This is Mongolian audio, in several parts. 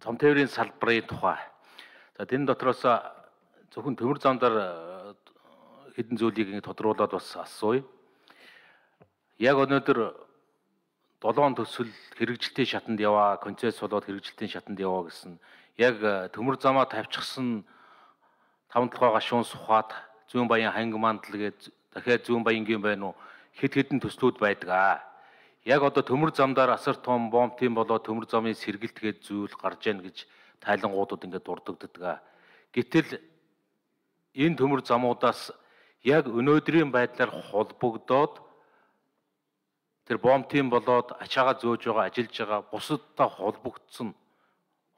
зам тээврийн салбарын тухай. За тэн дотроос зөвхөн төмөр замдаар хэдэн зүйлийг тодруулаад бас асууя. Яг өнөөдөр 7 төсөл хэрэгжилтийн шатанд яваа, концесс болоод хэрэгжилтийн шатанд яваа гэсэн яг төмөр замаа тавьчихсан 5-7 гашуун сухад зүүн баян ханги мандал гээд дахиад зүүн баянгийн байна уу хэд хэдэн төслүүд байдаг. Яг одоо төмөр замдаар асар том бомбтын болоод төмөр замын сэргэлт гээд зүйл гарч ийн гэж тайлангуудад ингээд дурддагддаг. Гэтэл энэ төмөр замуудаас яг өнөөдрийн байдлаар холбогдоод тэр бомбтын болоод ачаагаа зөөж байгаа, ажиллаж байгаа бусадтай холбогдсон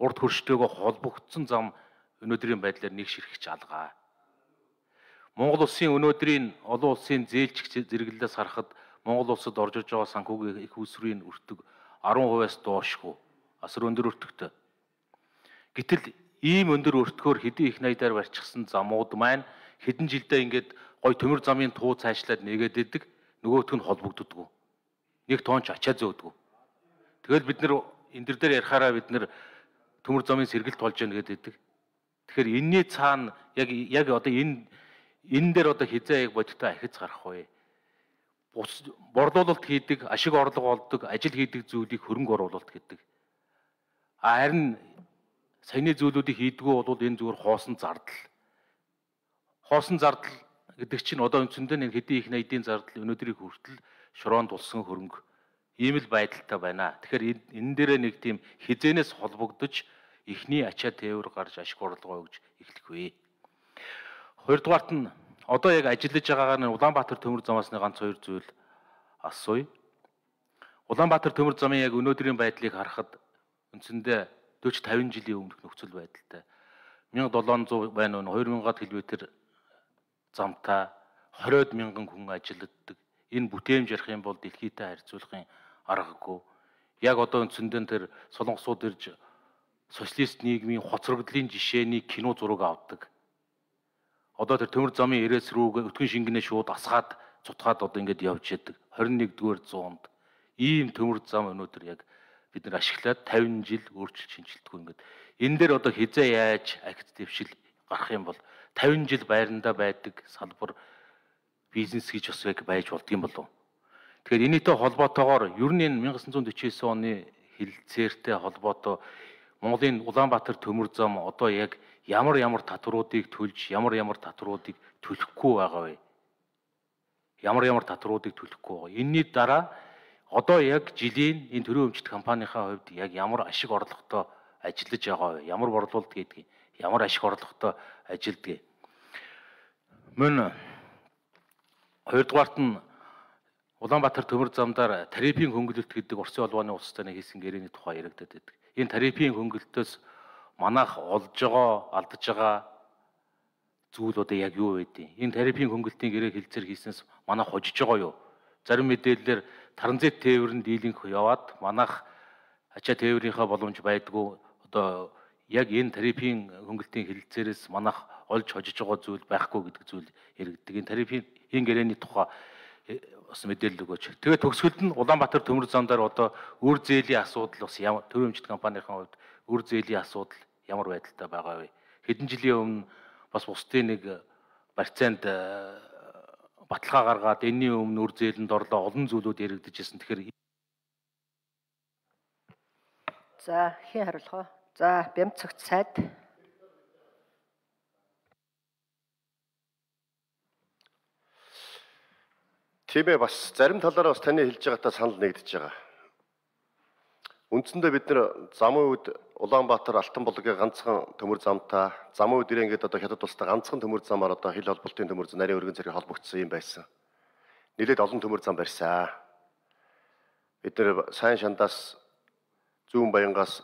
урд хөрштэйгөө холбогдсон зам өнөөдрийн байдлаар нэг ширхэж алгаа. Монгол улсын өнөөдрийн олон улсын зээлч зэрэглэлээс харахад Монгол улсад орж ирж байгаа санхүүгийн их усрын өртөг 10%-аас доошгүй асар өндөр өртөгтэй. Гэтэл ийм өндөр өртгөөр хэдийн их найдаар барьчихсан замууд маань хэдэн жилдээ ингээд гой төмөр замын туу цаашлаад нэгээд идэг, нөгөөх нь холбогддоггүй. Нэг тоонч ачаа зөөдгөө. Тэгэл бид нэр энэ дээр ярихаараа бид нэр төмөр замын сэргэлт болж яана гэдэг. Тэгэхээр энэний цаана яг одоо энэ дээр одоо хизээ яг бодиттой ахиц гарах вэ? Борлуулалт хийдэг, ашиг орлого олдог, ажил хийдэг зүйлийг хөрөнгө оруулалт гэдэг. Харин саяны зүйлүүдийг хийдгүү бол энэ зүгээр хоосон зардал. Хоосон зардал гэдэг чинь одоо үндсэндээ нэг хэдийн их найдын зардал өнөөдрийг хүртэл шороонд улсан хөрөнгө ийм л байдалтай байна. Тэгэхээр энэ дээрээ нэг тийм хизээнээс холбогдож эхний ачаа тээвэр гарч ашиг орлогоо өгж эхлэх вэ. Хоёрдугаарт нь одоо яг ажиллаж байгаагаар нь Улаанбаатар төмөр замаас нэг ганц хоёр зүйл асууя. Улаанбаатар төмөр замын яг өнөөдрийн байдлыг харахад үндсэндээ 40-50 жилийн өмнөх нөхцөл байдалтай. 1700 байна уу 2000-аад км замтай 20,000 хүн ажилладаг. Энэ бүтээмж ярих юм бол дэлхийдээ харьцуулахын аргагүй. Яг одоо үндсэндээ тэр солонгосууд ирж социалист нийгмийн хоцрогдлын жишээний кино зураг авдаг. Одоо тэр төмөр замын эрээс рүү өтгөн шингэнээ шууд асгаад цутгаад одоо ингэж явж яадаг. 21-р зуунд ийм төмөр зам өнөөдөр яг бид нар ашиглаад 50 жил өөрчлөлт шинжилтгүй ингээд энэ дээр одоо хизээ яаж акт дэвшил гарах юм бол 50 жил байранда байдаг салбар бизнес гэж бас яг байж болдгийм болов. Тэгэхээр энэтэй холбоотойгоор ер нь 1949 оны хилцээртэй холбоотой Монголын Улаанбаатар төмөр зам одоо яг ямар татваруудыг төлж ямар татваруудыг төлөхгүй байгаа вэ? Ямар татваруудыг төлөхгүй байгаа. Энэний дараа одоо яг жилийн энэ төрийн өмчт компанийнхаа хувьд яг ямар ашиг орлоготой ажиллаж байгаа вэ? Ямар борлуулалт хийдэг? Ямар ашиг орлоготой ажилдгийг. Мөн хоёрдугаарт нь Улаанбаатар төмөр замдаар тарифын хөнгөлөлт гэдэг Оросын холбооны улстай нэг хийсэн гэрээний тухай яригдаад байдаг. Энэ тарифын хөнгөлөлтөөс манайх олж байгаа, алдаж байгаа зүйл одоо яг юу вэ? Энэ тарифын хөнгөлтийн гэрээ хэлцээр хийснээс манайх хожиж байгаа юу? Зарим мэдээлэлээр транзит тээврийн дийлэнх яваад манайх ачаа тээврийнхаа боломж байдгүй. Одоо яг энэ тарифын хөнгөлтийн хэлэлцээрээс манайх олж хожиж байгаа зүйл байхгүй гэдэг зүйл яригддаг. Энэ тарифын гэрээний тухай бас мэдээлэл өгөөч. Тэгээд төгсгөлд нь Улаанбаатар төмөр замдаар одоо үр зээлийн асуудал бас төрийн өмчт компанийн хувьд үр зээлийн асуудал ямар байдалтай байгаа вэ? Хэдэн жилийн өмнө бас бусдын нэг барьцаанд баталгаа гаргаад энэний өмнө үр зээлэнд орлоо олон зүйлүүд яригдаж ирсэн. Тэгэхээр за хэн хариулах вэ? За Бямцагт сайд. Тийм ээ, бас зарим талаараа бас таны хэлж байгаатай санал нэгдэж байгаа. Үндсэндээ бид нэр замын үед Улаанбаатар Алтан булгийн ганцхан төмөр замтай, замын үед ингээд одоо хятад улстай ганцхан төмөр замаар одоо хил холболтын төмөр зам, нарийн өргөн зэрэг холбогдсон юм байсан. Нэлээд олон төмөр зам барьсан. Бид нэр сайн шандаас зүүн баянгаас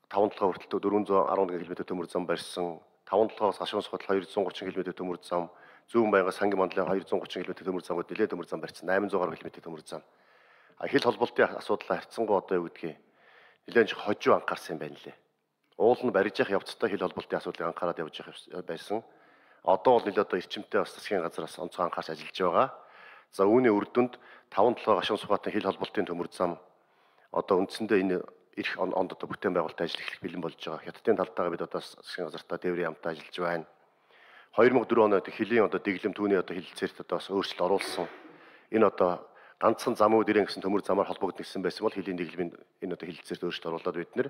5-7 хүртэл 411 км төмөр зам барьсан. 5-7-оос гашуун сухад 230 км төмөр зам, зүүн баянгаас сангийн мандлын 230 км төмөр замууд нэлээд төмөр зам барьсан. 800 гаруй км төмөр зам. Хил холболтын асуудлаа харьцангуй одоо юу гэдгийг нэлээд хожуу анхаарсан юм байна лээ. Уул нь барьж явах явцдаа хил холболтын асуудлыг анхаарал явж явах байсан. Одоо бол нэлээд одоо эрчимтэй бас засгийн газраас онцгой анхаарч ажиллаж байгаа. За үүний үр дүнд 5-7 гашуун сухатын хил холболтын төмөр зам одоо үндсэндээ энэ эх онд одоо бүтээн байгуулалтын ажил эхлэх бэлэн болж байгаа. Хятадын талдаа бид одоо засгийн газартаа тээврийн хамтаа ажиллаж байна. 2004 онд хөлийн одоо дэглэм түүний одоо хилцээрт одоо бас өөрчлөлт оруулсан. Энэ одоо ганцхан зам үүд ирэн гэсэн төмөр замаар холбогдсон байсан бол хөлийн дэглэмийн энэ одоо хилцээрт өөрчлөлт оруулаад бид нэр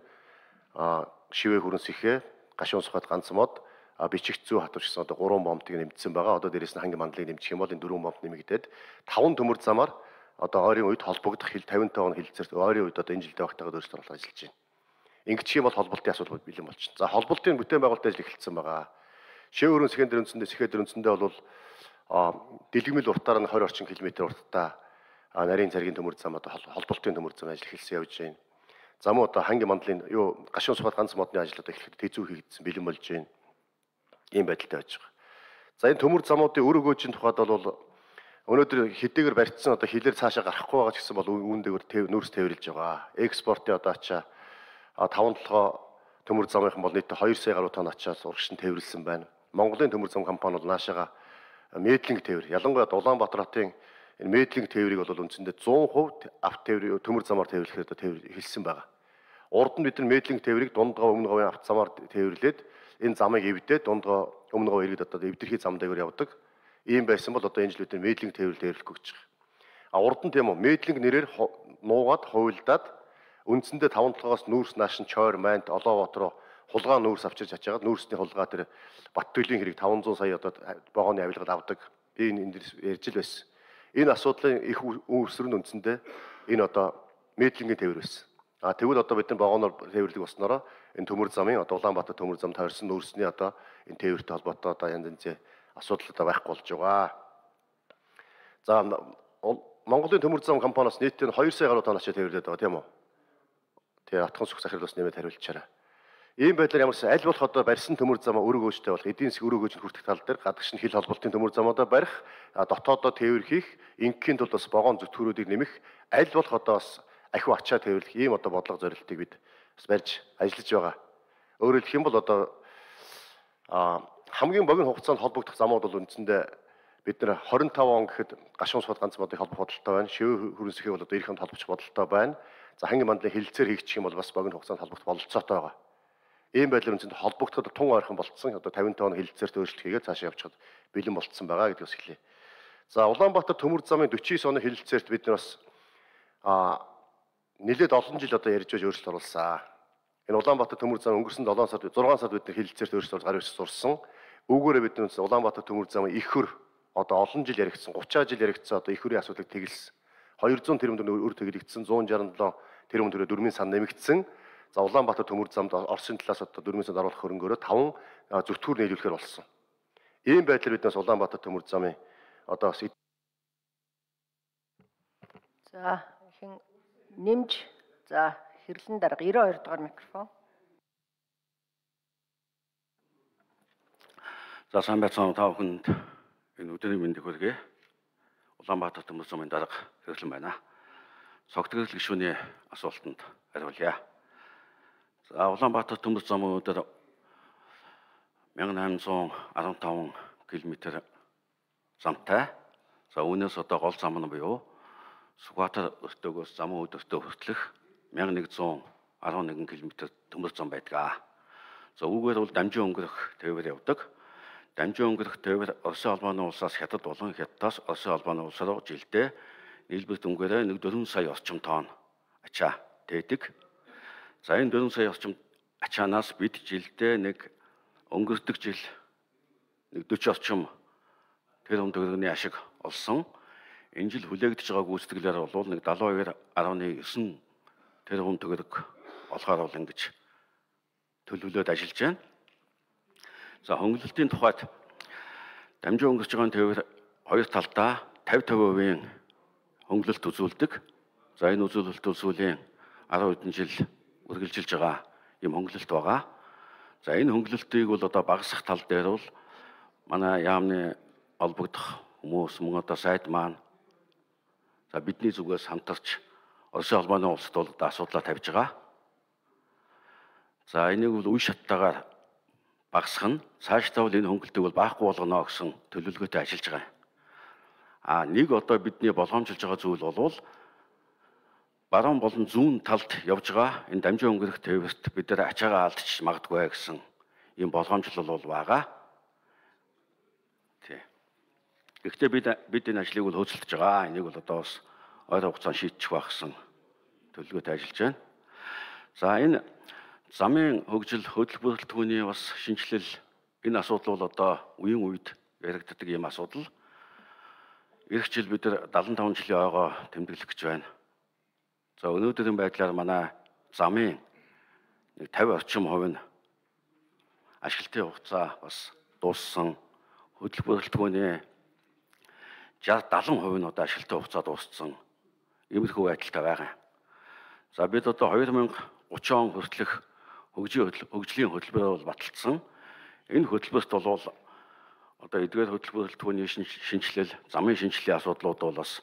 шивээ хүрэнс ихээ гашуун сухад ганц мод бичигт зүү хатварчсан одоо 3 бомтыг нэмэгдсэн байгаа. Одоо дээрээс нь хангийн мандлыг нэмчих юм бол энэ 4 бомт нэмэгдээд 5 төмөр замаар одоо ойрын үед холбогдох 50 тонн хилцээрт ойрын үед одоо энэ жилдээ багтаагаад өөрчлөлт оруулах ажиллаж байна. Ингэчих юм бол холболтын асуудал бэлэн болчихно. За холболтын бүтээн байгуулалт ажил эхэлсэн байгаа. Шив өрөн сэхэн дээр үндсэндээ бол дэлгэмэл уртаар нь 20 орчим километр уртаа нарийн царгийн төмөр зам одоо холболтын төмөр зам ажил эхэлсэн явж байна. Зам одоо хангийн мандлын гашуун сухад ганц модны ажил одоо эхлэхэд тэзүү хийгдсэн бэлэн болж байна. Ийм байдалтай байж байгаа. За энэ төмөр замуудын өр өгөөжийн тухайд бол өнөөдөр хэдийгээр барьцсан одоо хилээр цаашаа гарахгүй байгаа ч гэсэн бол үүнтэйгээр нүүрс тээвэрлж байгаа. Экспортын одоо ачаа 5-7 төмөр замынхан бол нийт 2 сая гаруй тонн ачаас урагшин тээвэрлсэн байна. Монголын төмөр зам компани бол наашаага медлинг тээвэр, ялангуяа Улаанбаатар хотын энэ медлинг тээврийг бол үндсэндээ 100% авто тээвэр төмөр замаар тээвэрлэхээр одоо хэлсэн байгаа. Урд нь бид нар медлинг тээврийг дундгаа өмнө говийн авто замаар тээвэрлээд энэ замыг эвдээд дундгаа өмнө говь иргэд одоо эвдэрхий зам дээгүүр явдаг. Ийм байсан бол одоо энэ жил бид нар медлинг тээвэрлэл тээвэрлэхгүй гэж байгаа. Урд нь тийм үү медлинг нэрээр нуугаад хувилдаад үндсэндээ 5-7-оос нүүрс нааш нь Чойр, Мант, Олоовот руу хулгай нүүрс авчирч ачаагаад нүүрсний хулгай тэр Баттөлийн хэрэг 500 сая одоо вагоны авилгад авдаг. Би энэ ярьж л байсан. Энэ асуудлын их үүсвэр нь үндсэндээ энэ одоо медлингийн тээвэр байсан. Тэгвэл одоо бид нар вагоноор тээвэрлэх болсноороо энэ төмөр замын одоо Улаанбаатар төмөр зам тойрсон нүүрсний одоо энэ тээвэртэй холбоотой одоо янз янзын асуудал одоо байхгүй болж байгаа. За Монголын төмөр зам компаниас нийтдээ 2 сая гаруй тонн ачаа тээвэрлээд байгаа тийм үү? Тэгээ атхан сүх захирал бас нэмээд хариулчаарай. Ийм байдлаар ямарсан аль болох одоо барьсан төмөр замаа өр өгөөжтэй болох эдийн засгийн өр өгөөжөнд хүртэх тал дээр гадагш нь хил холболтын төмөр замуудаа барих, дотоодоо тээвэр хийх, ингийн тулд бас вагон зүтгүүрүүдийг нэмэх, аль болох одоо бас ахиу ачаа тээвэрлэх ийм одоо бодлого зорилтыг бид бас барьж ажиллаж байгаа. Өөрөөр хэлэх юм бол одоо хамгийн богино хугацаанд холбогдох замууд бол үндсэндээ бид нэр 25 он гэхэд гашуун сууд ганц модыг холбох бодолтой байна. Шивээ хүрэнсэхээ бол одоо ирэх онд холбох бодолтой байна. За хангийн мандлын хилцээр хийгчих юм бол бас богино хугацаанд холбогдох бололцоотой байгаа. Ийм байдлаар үндсэндээ холбогдоход тун ойрхон болцсон одоо 50 тонн хилцээрт өөрчлөлт хийгээд цаашаа явчихад бэлэн болцсон байгаа гэдгээс хэлье. За Улаанбаатар төмөр замын 49 оны хилцээрт бид нар бас нэлээд олон жил одоо ярьж байж өөрчлөлт оруулсан. Энэ Улаанбаатар төмөр зам өнгөрсөн 7 сард 6 сард бид нар хилцээрт өөрчлөлт гар ирж сурсан. Үүгээрээ бид нар Улаанбаатар төмөр замын их хөр одоо олон жил яригдсан 30 жил яригдсан одоо их хөрийн асуудлыг тэгэлсэн. 200 тэрбум төгрөг өр тэглэгдсэн 167 тэрбум төгрөг дөрмийн сан нэмэгдсэн. За Улаанбаатар төмөр замд Оросын талаас одоо дөрмийн санд оруулах хөрөнгөөрөө 5 зүтгүүр нийлүүлэхээр болсон. Ийм байдлаар биднээс Улаанбаатар төмөр замын одоо бас За хэн нэмж за хэрлэн дарга 92 дугаар микрофон. За сайн байцгаана та бүхэнд энэ өдрийн мэндийг хүргэе. Улаанбаатар төмөр замын дарга хэрлэн байна. Цогтгөрөл гишүүний асуултанд хариулъя. За Улаанбаатар төмөр замын өдөр 1815 км замтай. За үүнээс одоо гол зам нь буюу Сүхбаатар өртөөгөөс замын өдөртөө хүртэлх 1111 км төмөр зам байдаг. За үүгээр бол дамжин өнгөрөх тээвэр явдаг. Дамжин өнгөрөх тээвэр Оросын албаны улсаас Хятад болон Хятадаас Оросын албаны улс руу жилдээ нийлбэр дүнгээрээ 4 сая орчим тонн ачаа тээдэг. За энэ 4 сая орчим ачаанаас бид жилдээ өнгөрдөг жил 40 орчим тэрбум төгрөгийн ашиг олсон. Энэ жил хүлээгдэж байгаа гүйцэтгэлээр бол 72.9 тэрбум төгрөг олохоор бол ингэж төлөвлөд ажиллаж байна. За хөнгөлөлтийн тухайд дамжин өнгөрч байгаа тээвэр хоёр талдаа 50% хөнгөлөлт үзүүлдэг. За энэ үзүүлэлт сүүлийн 10 хэдэн жил үргэлжилж байгаа юм хөнгөлөлт байгаа. За энэ хөнгөлөлтийг бол одоо багасгах тал дээр бол манай яамны олбогдох хүмүүс мөн одоо сайд маань за бидний зүгээс хамтарч Оросын албаны улсад бол одоо асуудлаа тавьж байгаа. За энийг бол үе шаттайгаар багасгах нь цаашдаа бол энэ хөнгөлөлтийг бол баахгүй болгоно гэсэн төлөвлөгөөтэй ажиллаж байгаа. Нэг одоо бидний болгоомжилж байгаа зүйл бол баруун болон зүүн талд явж байгаа энэ дамжин өнгөрөх тээвэрт бид нар ачаагаа алдчих магадгүй гэсэн ийм болгоомжлол бол байгаа. Тий. Гэхдээ бид энэ ажлыг бол хөөцөлдөж байгаа. Энийг бол одоо бас ойр хугацаанд шийдчих байх гэсэн төлөвлөгөөтэй ажиллаж байна. За энэ замын хөгжил хөдөлгөөн бүрэлдэхүүний бас шинжилэл энэ асуудал бол одоо үеийн үед яригддаг ийм асуудал. Ирэх жил бид нар 75 жилийн ойгоо тэмдэглэх гэж байна. За өнөөдрийн байдлаар манай замын 50 орчим хувь нь ашиглалтын хугацаа бас дууссан. Хөдөлгөөн бүрэлдэхүүний 60-70% нь одоо ашиглалтын хугацаа дууссан. Иймэрхүү байдалтай байгаа. За бид одоо 2030 он хүртэлх хөгжлийн хөтөлбөрөөр бол баталсан. Энэ хөтөлбөрт бол одоо эдгээр хөтөлбөр бүрэлдэхүүний шинжилэл, замын шинжиллийн асуудлууд бол бас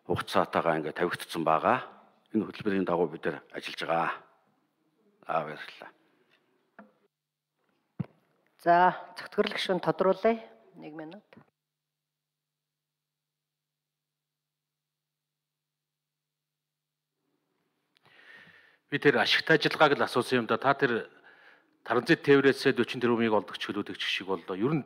хугацаатайгаа ингээд тавигдсан байгаа. Энэ хөтөлбөрийн дагуу бид нар ажиллаж байгаа. Баярлалаа. За, зөвтгөрлөх шин тодруулъя. 1 минут. Би тэр ашигтай ажиллагааг л асуусан юм да. Та тэр транзит тээврээсээ 40 тэрбумыг олдог чөлөөтэй шиг боллоо. Ер нь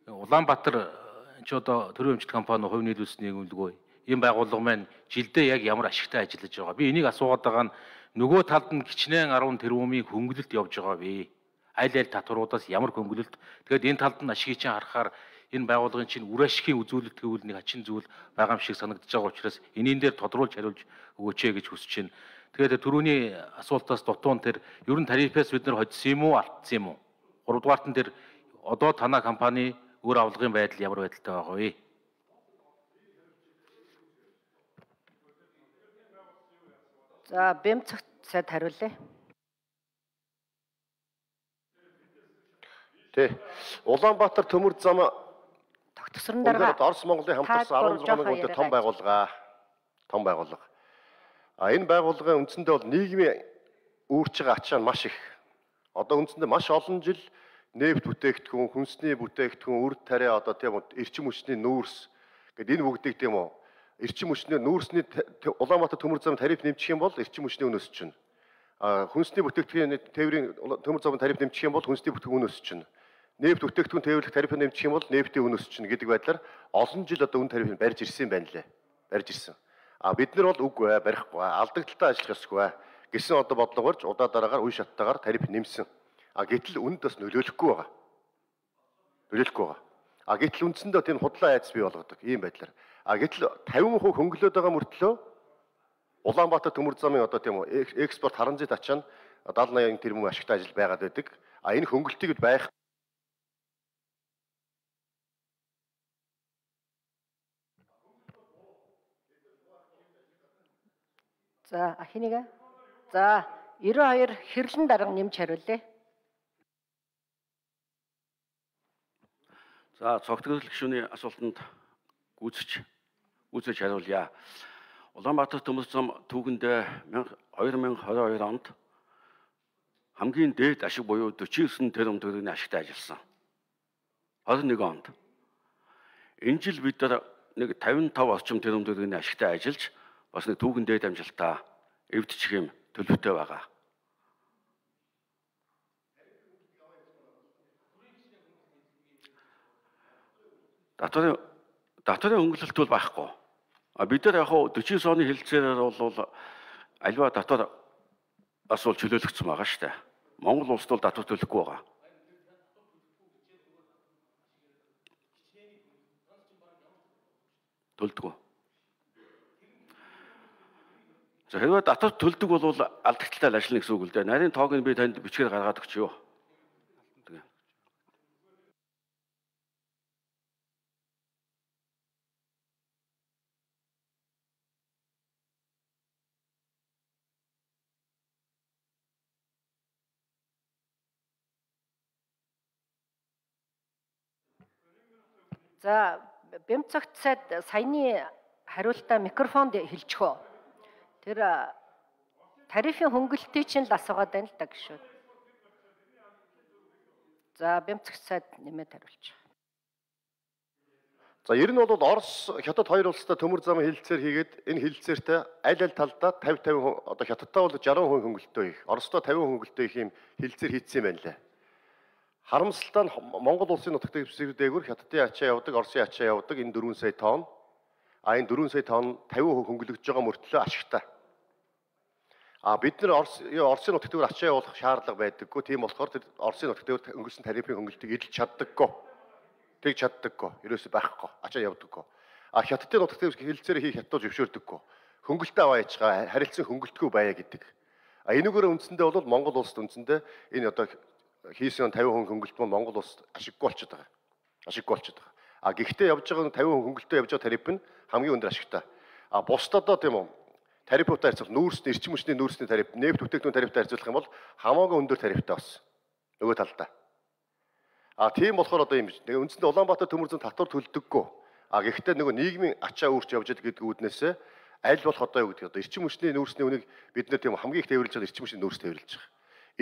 Улаанбаатар ч одоо төрийн эмчилгээ компани хувь нийлүүлсэн нэгүүлгөө ийм байгууллага маань жилдээ яг ямар ашигтай ажиллаж байгаа. Би энийг асуугаад байгаа нь нөгөө талд нь кичнээн 10 тэрбумыг хөнгөлөлт явж байгаа вэ? Аль татваруудаас ямар хөнгөлөлт? Тэгэхээр энэ талд нь ашигыг чинь харахаар энэ байгууллагын чинь үр ашигын үзүүлэлт гэвэл нэг хачин зүйл байгаа юм шиг санагдаж байгаа учраас энийн дээр тодруулж хариулж өгөөч гэж хүсэж байна. Тэгэхээр түрүүний асуултаас дутуун тэр ер нь тарифаас бид нар хоцсон юм уу, алдсан юм уу? 3 дугаарт нь тэр одоо танай компани өөр авлагын байдал ямар байдалтай байгаа вэ? За, Бэмцэгт сайд хариулъя. Тий. Улаанбаатар төмөр зам Тогтсорон дарга Орос Монголын хамтарсан 16 хүнтэй том байгууллага. Том байгууллага. Энэ байгууллагын үндсэндээ бол нийгмийн үүрч байгаа ачаа нь маш их. Одоо үндсэндээ маш олон жил нефт бүтээгдэхүүн, хүнсний бүтээгдэхүүн, үр тариа одоо тийм эрчим хүчний нүүрс гэдэг энэ бүгдийг тийм үү эрчим хүчний нүүрсний Улаанбаатар төмөр замын тариф нэмчих юм бол эрчим хүчний үн өсөж чинь. Хүнсний бүтээгдэхүүний тээврийн төмөр замын тариф нэмчих юм бол хүнсний бүтээгдэхүүн үн өсөж чинь. Нефт бүтээгдэхүүн тээвэрлэх тариф нэмчих юм бол нефтийн үн өсөж чинь гэдэг байдлаар олон жил одоо үн тарифыг барьж ирсэн байна лээ. Барьж ирсэн. Бид нар бол үгүй барихгүй алдагдaltaй ажиллах ёсгүй гэсэн одоо бодлогоорч удаа дараагаар үе шаттайгаар тариф нэмсэн. Гэтэл үнд бас нөлөөлөхгүй байгаа. Нөлөөлөхгүй байгаа. Гэтэл үндсэндээ тийм худлаа айц бий болгодог ийм байдлаар. Гэтэл 50% хөнгөлөд байгаа мөртлөө Улаанбаатар төмөр замын одоо тийм экспорт харанзит ачаа нь 70-80 тэрбум ашигтай ажил байгаад байдаг. Энэ хөнгөлтийг байх За, ахиныг. За, 92 хэрлэн дарга нэмж хариулъя. За, цогцлох гишүүний асуултанд гүйцэж хариулъя. Улаанбаатар төмөр зам түүхэндээ 2022 онд хамгийн дээд ашиг буюу 49 тэрбум төгрөгийн ашигтай ажилласан. 21 онд. Энэ жил бид нар нэг 55 орчим тэрбум төгрөгийн ашигтай ажиллаж бас нэг түүхэн дээд амжилтаа эвдчих юм төлөвтэй байгаа. Татварын хөнгөлөлт бол байхгүй. Бид нар яг 49 оны хэлэлцээр бол альва татвар асуул чөлөөлөгдсөн байгаа шүү дээ. Монгол улсд бол татвар төлөхгүй байгаа. Төлдөг. За хэрвээ татвар төлдөг бол алдагдaltaй ажиллана гэсэн үг л дээ. Нарийн тоог нь би танд бичгээр гаргаад өгч юу. За, Бэмцэгт сайд саяны хариултаа микрофонд хэлчихөө. Тэр тарифын хөнгөлөлтийг чинь л асуугаад байна л да гişүүд. За, Бэмцэгт сайд нэмээд хариулчих. За ер нь бол Орос Хятад хоёр улстай төмөр замын хилцээр хийгээд энэ хилцээртэй аль талдаа 50 одоо Хятадтай бол 60% хөнгөлөлтөө их, Оростой 50% хөнгөлөлтөө их юм хилцээр хийцсэн юм байна лээ. Харамсалтай нь Монгол улсын нутагт дэвсгэр дээгүүр Хятадын ачаа явдаг, Оросын ачаа явдаг энэ 4 сая тонн. Энэ 4 сая тонн 50% хөнгөлөгдөж байгаа мөртлөө ашигтай. Бид нар Оросын нутагт дээгүүр ачаа явуулах шаардлага байдаггүй. Тийм болохоор тэр Оросын нутагт дээгүүр өнгөрсөн тарифын хөнгөлөлтийг эдэлж чаддаггүй. Тэг чаддаггүй. Ерөөсөй байхгүй. Ачаа явдаггүй. Хятадын нутагт дээгүүр хилцээр хийх хятад зөвшөөрдөггүй. Хөнгөлөлтөө аваа яачгаа харилцан хөнгөлтгөө байя гэдэг. Энэгээр үндсэндээ бол Монгол улсд үндсэндээ энэ одоо хийсэн 50% хөнгөлөлт нь Монгол улсад ашиггүй болчиход байгаа. Ашиггүй болчиход байгаа. Гэхдээ явж байгаа 50% хөнгөлөлтөө явж байгаа тариф нь хамгийн өндөр ашигтай. Бусдад одоо тийм үү тарифуудаар харьцуулах нүүрсний эрчим хүчний нүүрсний тариф, нефт бүтээгдэхүүн тарифтай харьцуулах юм бол хамаагүй өндөр тарифтай бас. Нөгөө талдаа. Тийм болохоор одоо юм биш. Тэгээ үндсэндээ Улаанбаатар төмөр зам татвар төлдөггүй. Гэхдээ нөгөө нийгмийн ачаа үүрч явж байгаа гэдэг үүднээсээ аль болох одоо юу гэдэг одоо эрчим хүчний нүүрсний үнийг бид нэр тийм хамгийн их тээвэрлж байгаа эрчим хүчний нүүрс тээвэрлж байгаа.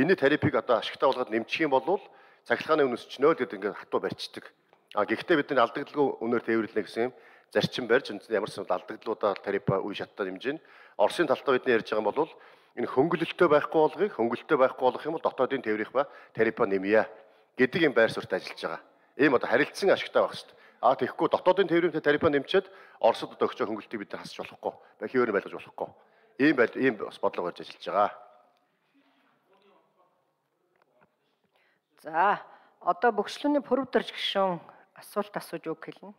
Энэ тарифыг одоо ашигтай болгоод нэмчих юм бол цахилгааны үнэс чнөө гэдэг ингээд хатуу барьцдаг. Гэхдээ бидний алдагдaltaгүй үнээр тээвэрлэнэ гэсэн юм зарчим барьж үндсэндээ ямар ч алдагдлуудаар тарифа үе шаттай хэмжээ нь Оросын талтаа бидний ярьж байгаа юм бол энэ хөнгөлөлтөө байхгүй болгох юм бол дотоодын тээврийнх ба тарифа нэмье гэдэг юм байр суурьтай ажиллаж байгаа. Ийм одоо харилцсан ашигтай байх шүү дээ. Тэгэхгүй дотоодын тээврийн тарифа нэмчихэд Оросд одоо өгч байгаа хөнгөлөлтийг бид нар хасч болохгүй. Хിവэр байлгаж болохгүй. Ийм бас бодлого барьж ажиллаж байгаа. За, одоо бөхчлөөний пүрэв дөрж гишүүн асуулт асууж үг хэлнэ.